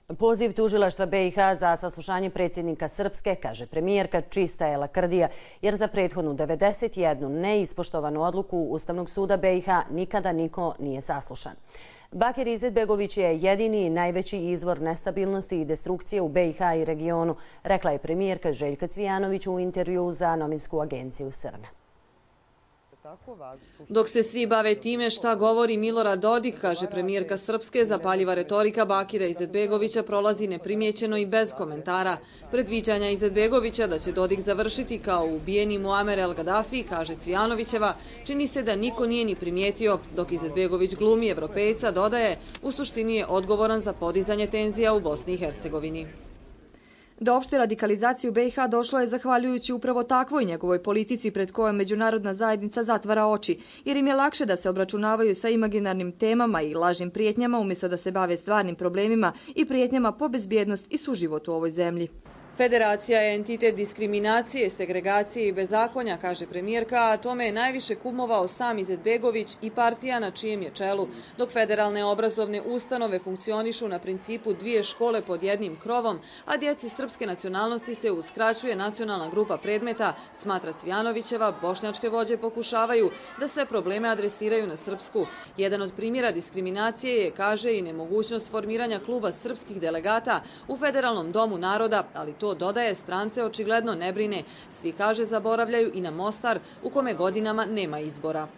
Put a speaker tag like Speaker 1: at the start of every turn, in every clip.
Speaker 1: Poziv tužilaštva BiH za saslušanje predsjednika Srpske, kaže premijerka, čista je lakrdija, jer za prethodnu 91 neispoštovanu odluku Ustavnog suda BiH nikada niko nije saslušan. Bakir Izetbegović je jedini i najveći izvor nestabilnosti i destrukcije u BiH i regionu, rekla je premijerka Željka Cvijanović u intervjuu za novinsku agenciju SRN.
Speaker 2: Dok se svi bave time šta govori Milorad Dodik, kaže premijerka Srpske, zapaljiva retorika Bakira Izetbegovića prolazi neprimjećeno i bez komentara. Predviđanja Izetbegovića da će Dodik završiti kao ubijeni Muamer el Gaddafi, kaže Cvijanovićeva, čini se da niko nije ni primijetio, dok Izetbegović glumi Evropejca, dodaje, u suštini je odgovoran za podizanje tenzija u Bosni i Hercegovini.
Speaker 3: Do opšte radikalizacije u BiH došlo je zahvaljujući upravo takvoj njegovoj politici pred kojom međunarodna zajednica zatvara oči, jer im je lakše da se obračunavaju sa imaginarnim temama i lažnim prijetnjama umjesto da se bave stvarnim problemima i prijetnjama po bezbjednost i suživot u ovoj zemlji.
Speaker 2: Federacija je entitet diskriminacije, segregacije i bezakonja, kaže premijerka, a tome je najviše kumovao sam Izetbegović i partija na čijem je čelu, dok federalne obrazovne ustanove funkcionišu na principu dvije škole pod jednim krovom, a djeci srpske nacionalnosti se uskraćuje nacionalna grupa predmeta, smatra Cvijanovićeva, bošnjačke vođe pokušavaju da sve probleme adresiraju na srpsku. Jedan od primjera diskriminacije je, kaže, i nemogućnost formiranja kluba srpskih delegata u Federalnom domu naroda, ali to dodaje, strance očigledno ne brine. Svi, kaže, zaboravljaju i na Mostar, u kome godinama nema izbora.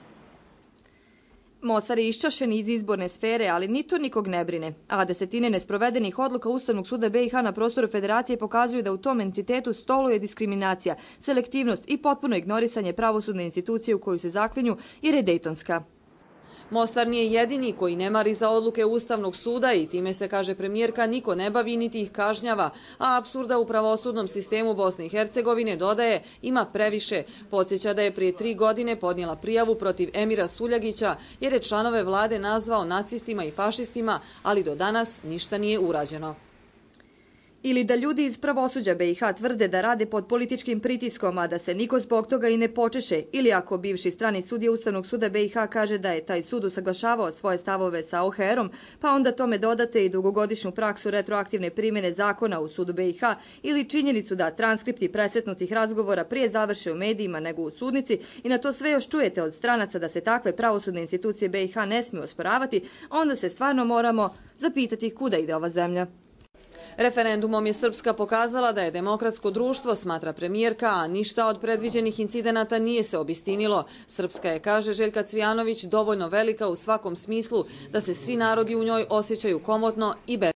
Speaker 3: Mostar je iščašen iz izborne sfere, ali ni to nikog ne brine. A desetine nesprovedenih odluka Ustavnog suda BiH na prostoru federacije pokazuju da u tom entitetu stoluje diskriminacija, selektivnost i potpuno ignorisanje pravosudne institucije u koju se zaklinju, jer je dejtonska.
Speaker 2: Mostar nije jedini koji ne mari za odluke Ustavnog suda i time se, kaže premijerka, niko ne bavi niti ih kažnjava, a apsurda u pravosudnom sistemu Bosne i Hercegovine, dodaje, ima previše. Podsjeća da je prije 3 godine podnijela prijavu protiv Emira Suljagića jer je članove vlade nazvao nacistima i fašistima, ali do danas ništa nije urađeno.
Speaker 3: Ili da ljudi iz pravosuđa BiH tvrde da rade pod političkim pritiskom, a da se niko zbog toga i ne počeše, ili ako bivši strani sudija Ustavnog suda BiH kaže da je taj sud usaglašavao svoje stavove sa OHR-om, pa onda tome dodate i dugogodišnju praksu retroaktivne primjene zakona u sudu BiH ili činjenicu da transkripti presretnutih razgovora prije završe u medijima nego u sudnici i na to sve još čujete od stranaca da se takve pravosudne institucije BiH ne smiju osporavati, onda se stvarno moramo zapitati kuda ide ova zemlja.
Speaker 2: Referendumom je Srpska pokazala da je demokratsko društvo, smatra premijerka, a ništa od predviđenih incidenata nije se obistinilo. Srpska je, kaže Željka Cvijanović, dovoljno velika u svakom smislu da se svi narodi u njoj osjećaju komotno i bez